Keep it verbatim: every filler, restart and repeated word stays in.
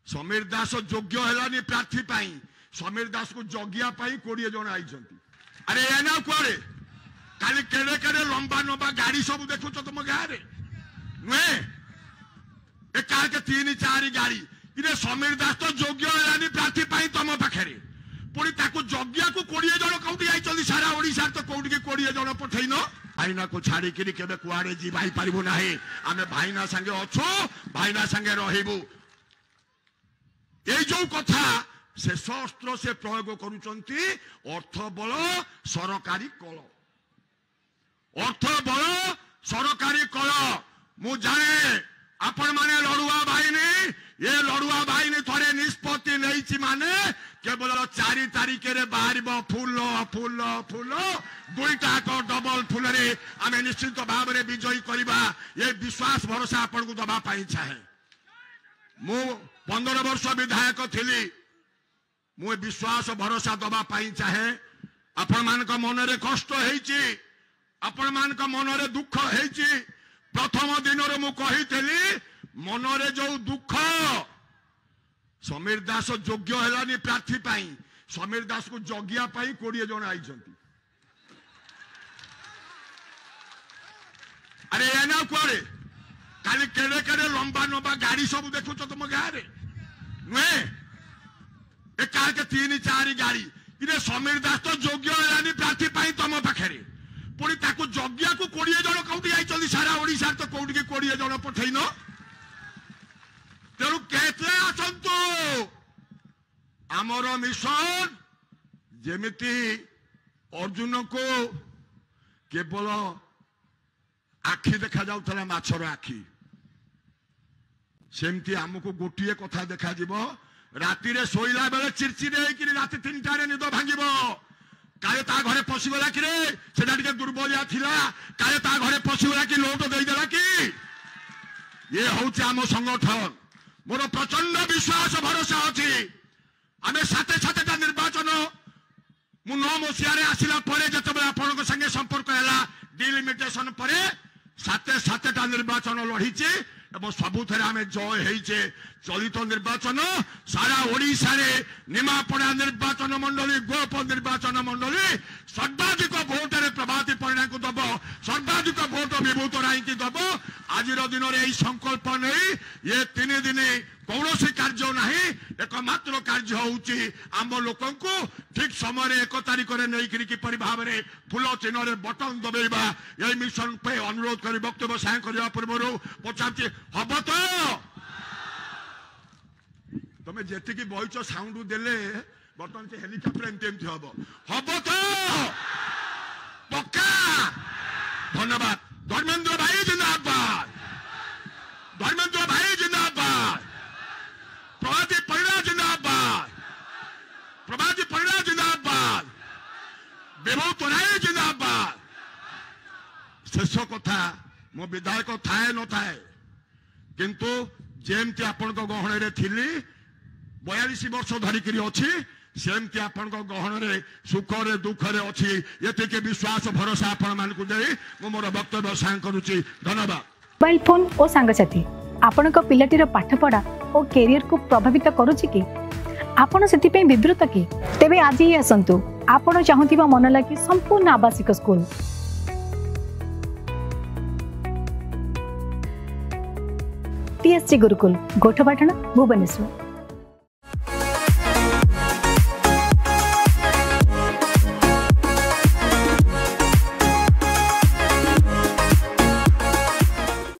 ସମୀର ଦାସ ଯୋଗ୍ୟ ହେଲାନି ପ୍ରାର୍ଥୀ ପାଇଁ, ସମୀର ଦାସକୁ ଜଗିବା ପାଇଁ କୋଡ଼ିଏ ଜଣ ଆଇଛନ୍ତି। ଆରେ ଏ ନା କୁଆଡ଼େ କାଲି କେଡ଼େ କେଡ଼େ ଲମ୍ବା ଲମ୍ବା ଗାଡ଼ି ସବୁ ଦେଖୁଛ ତମ ଗାଁରେ ନୁହେଁ? ଏକା ଏକ ତିନି ଚାରି ଗାଡ଼ି। ଇରେ ସମୀର ଦାସ ତ ଯୋଗ୍ୟ ହେଲାନି ପ୍ରାର୍ଥୀ ପାଇଁ ତମ ପାଖରେ, ପୁଣି ତାକୁ ଜଗିବାକୁ କୋଡ଼ିଏ ଜଣ କୋଉଠି ଯାଇଛନ୍ତି? ସାରା ଓଡ଼ିଶାରେ ତ କୋଉଠିକି କୋଡ଼ିଏ ଜଣ ପଠେଇନ। ଭାଇନାକୁ ଛାଡ଼ିକିରି କେବେ କୁଆଡ଼େ ଯିବାଇ ପାରିବୁ ନାହିଁ। ଆମେ ଭାଇନା ସାଙ୍ଗେ ଅଛୁ, ଭାଇନା ସାଙ୍ଗେ ରହିବୁ। ଏଇ ଯୋଉ କଥା, ଶେଷ ଅସ୍ତ୍ର ସେ ପ୍ରୟୋଗ କରୁଛନ୍ତି ଅର୍ଥ ବଳ, ସରକାରୀ କଳ। ଅର୍ଥ ବଳ, ସରକାରୀ କଳ। ମୁଁ ଜାଣେ ଆପଣମାନେ ଲଢୁଆ ବାହିନୀ। ଏ ଲଢୁଆ ବାହିନୀ ଥରେ ନିଷ୍ପତ୍ତି ନେଇଛି ମାନେ କେବଳ ଚାରି ତାରିଖରେ ବାହାରିବ ଫୁଲ, ଫୁଲ, ଫୁଲ, ଦୁଇଟା ଯାକ ଡବଲ ଫୁଲରେ ଆମେ ନିଶ୍ଚିତ ଭାବରେ ବିଜୟୀ କରିବା। ଏ ବିଶ୍ୱାସ ଭରସା ଆପଣଙ୍କୁ ଦବା ପାଇଁ ଚାହେଁ। ମୁଁ ପନ୍ଦର ବର୍ଷ ବିଧାୟକ ଥିଲି। ମୁଁ ଏ ବିଶ୍ୱାସ ଭରସା ଦବା ପାଇଁ ଚାହେଁ। ଆପଣମାନଙ୍କ ମନରେ କଷ୍ଟ ହେଇଛି, ଆପଣମାନଙ୍କ ମନରେ ଦୁଃଖ ହେଇଛି। ପ୍ରଥମ ଦିନରୁ ମୁଁ କହିଥିଲି, ମନରେ ଯୋଉ ଦୁଃଖ, ସମୀର ଦାସ ଯୋଗ୍ୟ ହେଲାନି ପ୍ରାର୍ଥୀ ପାଇଁ, ସମୀର ଦାସକୁ ଜଗିବା ପାଇଁ କୋଡ଼ିଏ ଜଣ ଆଇଛନ୍ତି। ଆରେ ଏ ନା କୁଆଡ଼େ କାଲି କେଡ଼େ କେଡ଼େ ଲମ୍ବା ଲମ୍ବା ଗାଡ଼ି ସବୁ ଦେଖୁଛ ତମ ଗାଁରେ ନୁହେଁ? ଏକା ଏକ ତିନି ଚାରି ଗାଡ଼ି। ଇରେ ସମୀର ଦାସ ତ ଯୋଗ୍ୟ ହେଲାନି ପ୍ରାର୍ଥୀ ପାଇଁ ତମ ପାଖରେ, ପୁଣି ତାକୁ ଜଗିବାକୁ କୋଡ଼ିଏ ଜଣ କୋଉଠି ଯାଇଛନ୍ତି? ସାରା ଓଡ଼ିଶାରେ ତ କୋଉଠିକି କୋଡ଼ିଏ ଜଣ ପଠେଇନ। ତେଣୁ କେତେ ଆସନ୍ତୁ, ଆମର ମିଶନ ଯେମିତି ଅର୍ଜୁନକୁ କେବଳ ଆଖି ଦେଖାଯାଉଥିଲା, ମାଛର ଆଖି, ସେମିତି ଆମକୁ ଗୋଟିଏ କଥା ଦେଖାଯିବ। ରାତିରେ ଶୋଇଲା ବେଳେ ଚିରଚିରି ହେଇକିରି ରାତି ତିନିଟାରେ ନିଦ ଭାଙ୍ଗିବ, କାଳେ ତା ଘରେ ପଶିଗଲା କି ରେ, ସେଟା ଟିକେ ଦୁର୍ବଳିଆ ଥିଲା, କାଳେ ତା ଘରେ ପଶିଗଲା କି, ଲୋଟ ଦେଇଦେଲା କି। ଇଏ ହଉଛି ଆମ ସଂଗଠନ। ମୋର ପ୍ରଚଣ୍ଡ ବିଶ୍ୱାସ ଭରସା ଅଛି। ଆମେ ସାତେ ସାତଟା ନିର୍ବାଚନ, ମୁଁ ନଅ ମସିହାରେ ଆସିଲା ପରେ ଯେତେବେଳେ ଆପଣଙ୍କ ସାଙ୍ଗେ ସମ୍ପର୍କ ହେଲା, ଡିଲିମିଟେସନ ପରେ ସାତେ ସାତଟା ନିର୍ବାଚନ ଲଢିଛି ଏବଂ ସବୁଥିରେ ଆମେ ଜୟ ହେଇଛେ। ଚଳିତ ନିର୍ବାଚନ ସାରା ଓଡ଼ିଶାରେ ନିମାପଡ଼ା ନିର୍ବାଚନ ମଣ୍ଡଳୀ, ଗୋପ ନିର୍ବାଚନ ମଣ୍ଡଳୀ ସର୍ବାଧିକ ଭୋଟରେ ପ୍ରଭାତୀ ପରିଡ଼ାଙ୍କୁ ଦବ, ସର୍ବାଧିକ ଭୋଟ ବିଭୂତ ରାୟଙ୍କୁ ଦବ। ଆଜିର ଦିନରେ ଏହି ସଂକଳ୍ପ ନେଇ ଏ ତିନି ଦିନ କୌଣସି କାର୍ଯ୍ୟ ନାହିଁ। ଏକମାତ୍ର କାର୍ଯ୍ୟ ହେଉଛି ଆମ ଲୋକଙ୍କୁ ଠିକ ସମୟରେ ଏକ ତାରିଖରେ ନେଇକରି କିପରି ଭାବରେ ଫୁଲ ଚିହ୍ନରେ ବଟନ ଦବେଇବା। ଏହି ମିଶନ ପାଇଁ ଅନୁରୋଧ କରି ବକ୍ତବ୍ୟ ସାୟ କରିବା ପୂର୍ବରୁ ପଚାରୁଛି, ହବ ତ? ତମେ ଯେତିକି ବହିଛ ସାଉଣ୍ଡ ଦେଲେ ବର୍ତ୍ତମାନ ସେ ହେଲିକପ୍ଟର ଏମିତି ଏମିତି ହବ। ହବ ତ ପକ୍କା? ଧନ୍ୟବାଦ। ଧର୍ମେନ୍ଦ୍ର ଭାଇ ଜିନ୍ଦାବାଦ, ଧର୍ମେନ୍ଦ୍ର ଭାଇ ଜିନ୍ଦାବାଦ, ପ୍ରଭାତୀ ପରିଡ଼ା ଜିନ୍ଦାବାଦ, ପ୍ରଭାତୀ ପରିଡ଼ା ଜିନ୍ଦାବାଦ, ବିଭୂତ ରାୟ ଜିନ୍ଦାବାଦ। ଶେଷ କଥା, ମୋ ବିଧାୟକ ଥାଏ ନଥାଏ, କିନ୍ତୁ ଯେମିତି ଆପଣଙ୍କ ଗହଣରେ ଥିଲି, ବୟାଳିଶ ବର୍ଷ ଧରିକିରି ଅଛି, ସେମିତି ଆପଣଙ୍କ ଗହଣରେ ସୁଖରେ ଦୁଃଖରେ ଅଛି। ଏତିକି ବିଶ୍ୱାସ ଭରସା ଆପଣମାନଙ୍କୁ ଦେଇ ମୁଁ ମୋର ବକ୍ତବ୍ୟ ସାଙ୍ଗ କରୁଛି। ଧନ୍ୟବାଦ। ମୋବାଇଲ ଫୋନ୍ ଓ ସାଙ୍ଗସାଥି ଆପଣଙ୍କ ପିଲାଟିର ପାଠପଢ଼ା ଓ କ୍ୟାରିୟରକୁ ପ୍ରଭାବିତ କରୁଛି କି? ଆପଣ ସେଥିପାଇଁ ବିବ୍ରତ କି? ତେବେ ଆଜି ହିଁ ଆସନ୍ତୁ ଆପଣ ଚାହୁଁଥିବା ମନ ଲାଗି ସମ୍ପୂର୍ଣ୍ଣ ଆବାସିକ ସ୍କୁଲ, ଟିଏସସି ଗୁରୁକୁଲ, ଗୋଠପାଟଣା, ଭୁବନେଶ୍ୱର।